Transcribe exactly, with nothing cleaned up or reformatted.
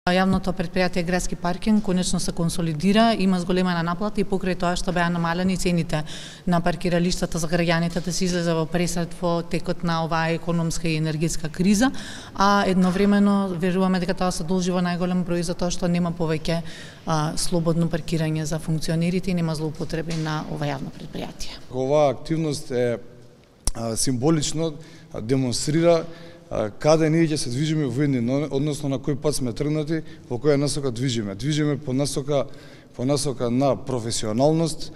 Јавното предпријатие Градски паркинг конечно се консолидира, има зголемена наплата и покрај тоа што беа намалени цените на паркиралиштата за граѓаните да се излезе во пресред во текот на оваа економска и енергетска криза, а едновремено веруваме дека тоа се должи во најголем број за тоа што нема повеќе а, слободно паркирање за функционерите и нема злоупотреби на ова јавно предпријатие. Оваа активност е а, символично демонстрира каде ние ќе се движиме во иднина, односно на кој пат сме тргнати, во која насока движиме. Движиме по насока по насока на професионалност,